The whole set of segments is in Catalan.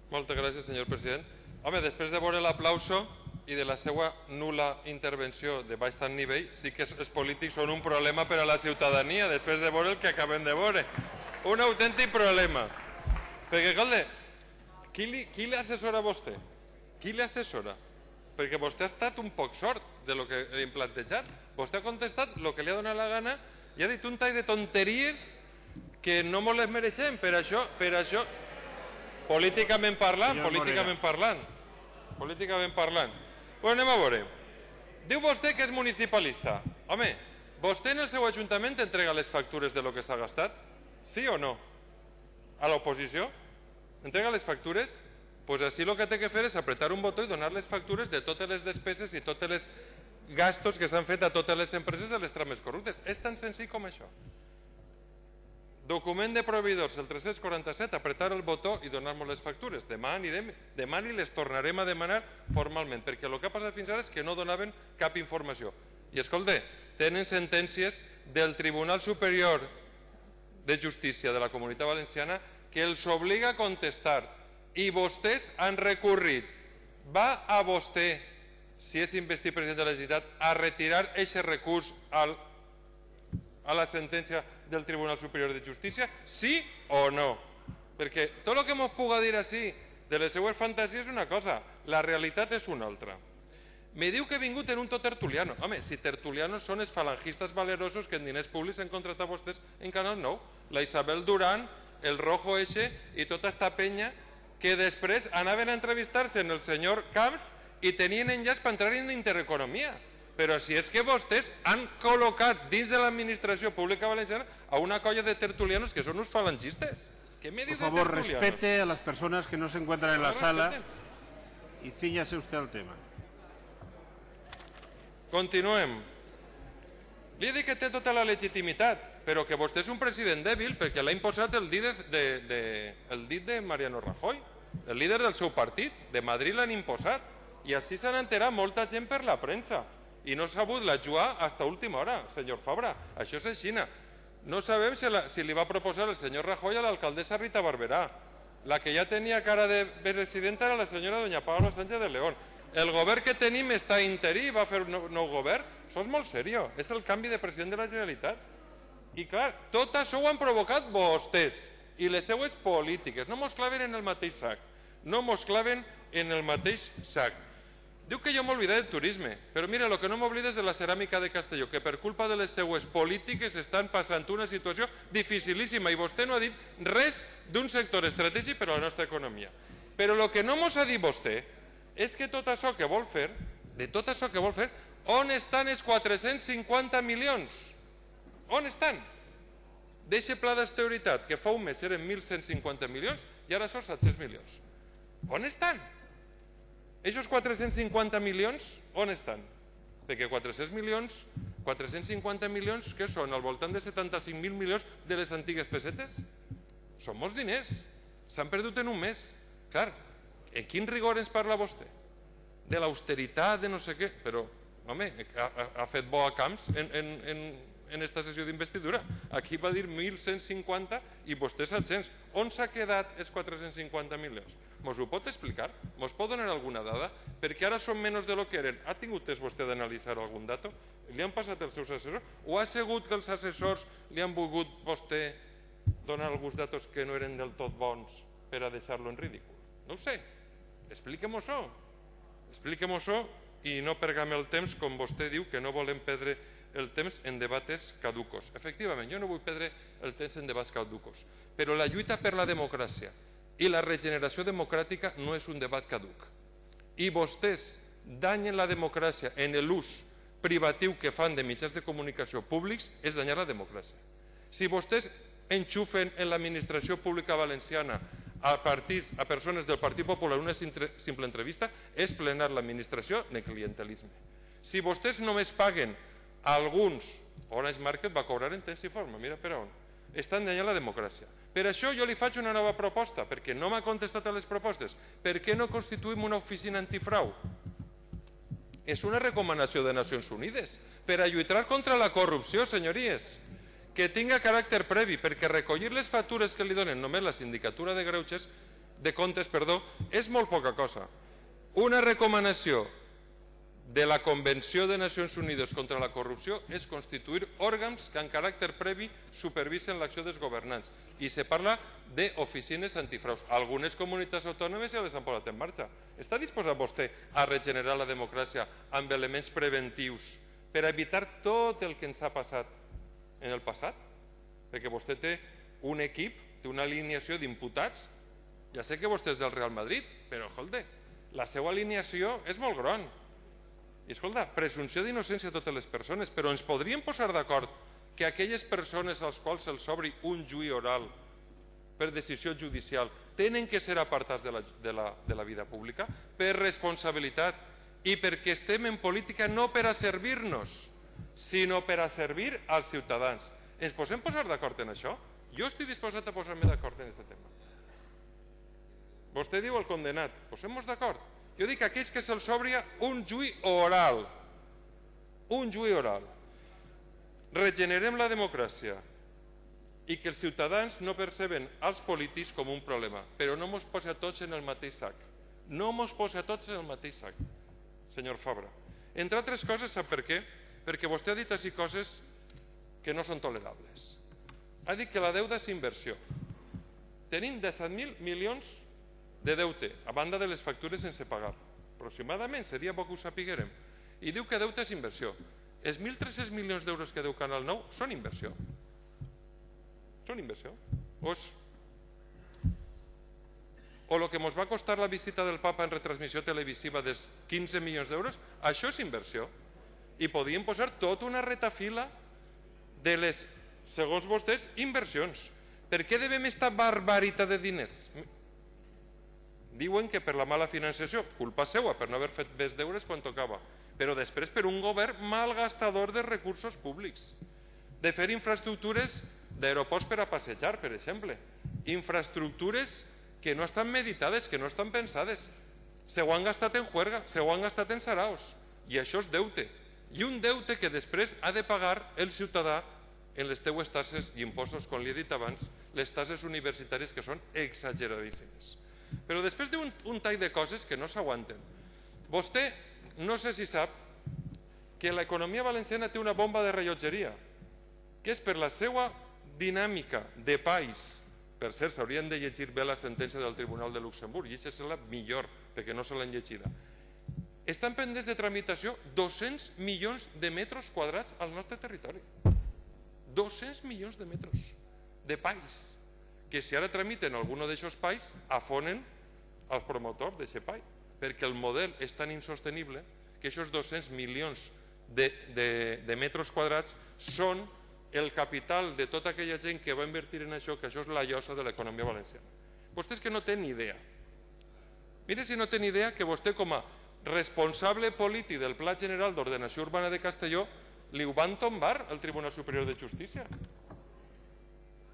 Moltes gràcies, senyor president. Home, després de veure l'aplauso i de la seva nul·la intervenció de baix tant nivell, sí que els polítics són un problema per a la ciutadania, després de veure el que acabem de veure. Un autèntic problema. Perquè, escolta, qui l'assessora a vostè? Qui l'assessora? Perquè vostè ha estat un poc sort de lo que li hem plantejat. Vostè ha contestat el que li ha donat la gana i ha dit un tall de tonteries que no mos les mereixem. Per això, políticament parlant. Bueno, anem a veure. Diu vostè que és municipalista. Home, vostè en el seu ajuntament entrega les factures de lo que s'ha gastat? Sí o no? A l'oposició? Entrega les factures? Doncs així el que té que fer és apretar un botó i donar les factures de totes les despeses i tots els gastos que s'han fet a totes les empreses de les trames corruptes. És tan senzill com això. Document de proveïdors, el 347, apretar el botó i donar-nos les factures. Demà i les tornarem a demanar formalment, perquè el que ha passat fins ara és que no donaven cap informació. I escolta, tenen sentències del Tribunal Superior de Justícia de la Comunitat Valenciana que els obliga a contestar i vostès han recorrit. Va a vostè, si és investit president de la Generalitat, a retirar aquest recurs a la sentència del Tribunal Superior de Justícia? Sí o no? Perquè tot el que ens puga dir així de les seues fantasies és una cosa, la realitat és una altra. Me diu que he vingut en un to tertuliano. Home, si tertulianos són els falangistes valerosos que en diners públics han contratat vostès en Canal 9, la Isabel Durán, el Rojo Eche i tota esta penya que després anaven a entrevistar-se en el senyor Camps i tenien enllaç per entrar en Intereconomia. Però si és que vostès han col·locat dins de l'administració pública valenciana a una colla de tertulianos que són uns falangistes. ¿Qué me dice de tertulianos? Por favor, respete a las personas que no se encuentran en la sala y cíñase usted al tema. Continuem. Li he dit que té tota la legitimitat, però que vostè és un president dèbil perquè l'ha imposat el dit de Mariano Rajoy, el líder del seu partit. De Madrid l'han imposat i així s'han enterat molta gent per la premsa i no s'ha sabut la jugar fins a última hora, senyor Fabra. Això és així. No sabem si li va proposar el senyor Rajoy a l'alcaldessa Rita Barberà. La que ja tenia cara de presidenta era la senyora doña Paula Sánchez de León. El govern que tenim està interí, va fer un nou govern. Això és molt seriós, és el canvi de president de la Generalitat. I clar, tot això ho han provocat vostès i les seues polítiques. No mos claven en el mateix sac. No mos claven en el mateix sac. Diu que jo m'oblidé del turisme, però mira, el que no m'oblida és de la ceràmica de Castelló, que per culpa de les seues polítiques estan passant una situació dificilíssima i vostè no ha dit res d'un sector estratègic per a la nostra economia. Però el que no mos ha dit vostè és que tot això que vol fer, on estan els 450 milions? On estan? D'aquest pla d'austeritat, que fa un mes eren 1.150 milions i ara són 700 milions. On estan? Aquests 450 milions, on estan? Perquè 450 milions, què són? Al voltant de 75.000 milions de les antigues pessetes? Són molts diners. S'han perdut en un mes. Clar, en quin rigor ens parla vostè? De l'austeritat, de no sé què, però, home, ha fet bo a Camps en esta sessió d'investidura. Aquí va dir 1.150 i vostè 700. On s'ha quedat els 450 milions? Mos ho pot explicar? Mos pot donar alguna dada? Perquè ara són menys de lo que eren. Ha tingut temps vostè d'analitzar algun dato? Li han passat els seus assessors? O ha sigut que els assessors li han volgut vostè donar alguns datos que no eren del tot bons per a deixar-lo en ridícul? No ho sé. Expliquem-ho-ho. Expliquem-ho-ho i no pergam el temps, com vostè diu, que no volem perdre el temps en debats caducos. Efectivament, jo no vull perdre el temps en debats caducos, però la lluita per la democràcia i la regeneració democràtica no és un debat caduc. I vostès danyen la democràcia en l'ús privatiu que fan de mitjans de comunicació públics, és danyar la democràcia. Si vostès enxufen en l'administració pública valenciana a persones del Partit Popular una simple entrevista, és plenar l'administració de clientelisme. Si vostès només paguen a alguns, Orange Market va cobrar en temps i forma, mira per on, estan danyant la democràcia. Per això jo li faig una nova proposta, perquè no m'ha contestat a les propostes. Per què no constituïm una oficina antifrau? És una recomanació de Nacions Unides per a lluitar contra la corrupció, senyories, que tinga caràcter previ, perquè recollir les factures que li donen només la sindicatura de greuges de comptes, és molt poca cosa. Una recomanació de la Convenció de Nacions Unides contra la corrupció és constituir òrgans que en caràcter previ supervisen l'acció dels governants i se parla d'oficines antifraus. Algunes comunitats autònomes ja les han posat en marxa. Està disposat vostè a regenerar la democràcia amb elements preventius per evitar tot el que ens ha passat en el passat? Perquè vostè té un equip, té una alineació d'imputats. Ja sé que vostè és del Real Madrid, però escolta, la seva alineació és molt gran. I escolta, presumpció d'innocència a totes les persones, però ens podríem posar d'acord que aquelles persones als quals se'ls obri un juí oral per decisió judicial tenen que ser apartats de la vida pública per responsabilitat i perquè estem en política no per a servir-nos, sinó per a servir als ciutadans. Ens podem posar d'acord en això? Jo estic disposat a posar-me d'acord en aquest tema. Vostè diu el condenat, posem-nos d'acord. Jo dic a aquells que se'ls obria un juí oral. Un juí oral. Regenerem la democràcia i que els ciutadans no perceben els polítics com un problema, però no mos posa tots en el mateix sac. No mos posa tots en el mateix sac, senyor Fabra. Entre altres coses, sap per què? Perquè vostè ha dit així coses que no són tolerables. Ha dit que la deuda és inversió. Tenim 17.000 milions de deute, a banda de les factures sense pagar. Aproximadament, seria bo que ho sapiguérem. I diu que deute és inversió. Els 1.300 milions d'euros que deu Canal 9 són inversió. Són inversió. O el que ens va costar la visita del papa en retransmissió televisiva dels 15 milions d'euros, això és inversió. I podíem posar tota una retafila de les, segons vostès, inversions. Per què devem esta barbaritat de diners? Diuen que per la mala financiació, culpa seua, per no haver fet més deures quan tocava, però després per un govern malgastador de recursos públics, de fer infraestructures d'aeroports per a passejar, per exemple, infraestructures que no estan meditades, que no estan pensades, se ho han gastat en juerga, se ho han gastat en saraos, i això és deute, i un deute que després ha de pagar el ciutadà en les teues taxes i impostos, com li he dit abans, les taxes universitàries que són exageradíssimes. Però després diu un tall de coses que no s'aguanten. Vostè, no sé si sap, que l'economia valenciana té una bomba de rellotgeria, que és per la seva dinàmica de país. Per cert, s'haurien de llegir bé la sentència del Tribunal de Luxemburg, i llegir-se-la millor, perquè no se l'han llegida. Estan pendents de tramitació 200 milions de metres quadrats al nostre territori. 200 milions de metres de país, que si ara tramiten algun d'aquests pais, afonen al promotor d'aquest pai, perquè el model és tan insostenible que aquests 200 milions de metres quadrats són el capital de tota aquella gent que va invertir en això, que això és la llosa de l'economia valenciana. Vostès que no tenen ni idea. Mire si no tenen idea que vostè, com a responsable polític del Pla General d'Ordenació Urbana de Castelló, li ho van tombar al Tribunal Superior de Justícia.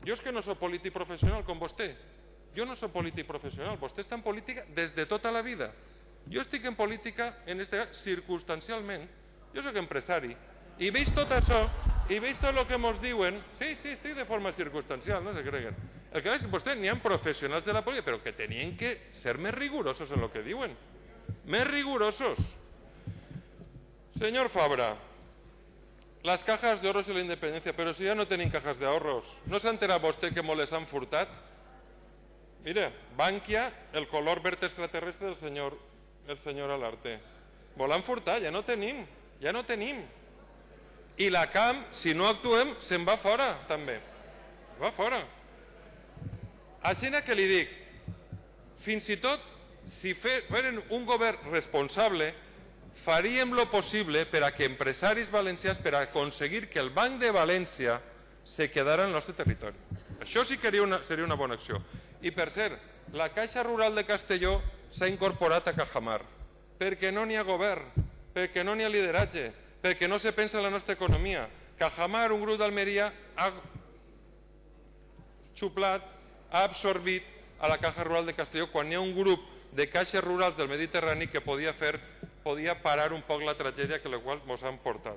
Jo és que no soc polític professional com vostè. Jo no soc polític professional. Vostè està en política des de tota la vida. Jo estic en política, en este cas, circumstancialment. Jo soc empresari. I veig tot això, i veig tot el que ens diuen. Sí, estic de forma circumstancial, no se creguen. El que és que vostè n'hi ha professionals de la política, però que tenien que ser més rigurosos en el que diuen. Més rigurosos. Senyor Fabra, las cajas de ahorros y la independencia, pero si ya no tienen cajas de ahorros, ¿no se ha enterado usted que les han furtat? Mira, Bankia, el color verde extraterrestre del señor Alarte. Volen furtar, ja no tenim. I la CAM, si no actuem, se'n va fora, també. Va fora. Així que li dic, fins i tot, si feren un govern responsable, faríem lo possible per a que empresaris valencians, per a aconseguir que el Banc de València se quedara al nostre territori. Això sí que seria una bona acció. I per cert, la Caixa Rural de Castelló s'ha incorporat a Cajamar, perquè no n'hi ha govern, perquè no n'hi ha lideratge, perquè no se pensa en la nostra economia. Cajamar, un grup d'Almeria, ha xuplat, ha absorbit a la Caixa Rural de Castelló quan hi ha un grup de caixes rurals del Mediterrani que podia parar un poc la tragèdia que la qual ens han portat.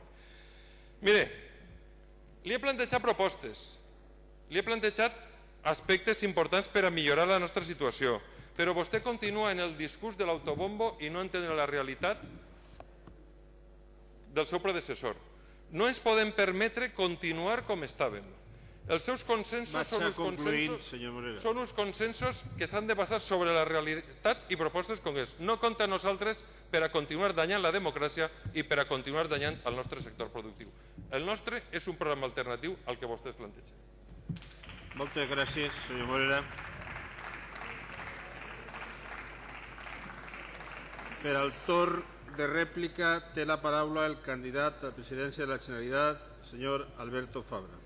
Mire, li he plantejat propostes, li he plantejat aspectes importants per a millorar la nostra situació, Però vostè continua en el discurs de l'autobombo i no entén la realitat del seu predecessor. No ens podem permetre continuar com estàvem. Els seus consensos són uns consensos que s'han de basar sobre la realitat i propostes concretes. No compta amb nosaltres per a continuar danyant la democràcia i per a continuar danyant el nostre sector productiu. El nostre és un programa alternatiu al que vostès plantegen. Moltes gràcies, senyor Morera. Per al torn de rèplica té la paraula el candidat a la presidència de la Generalitat, senyor Alberto Fabra.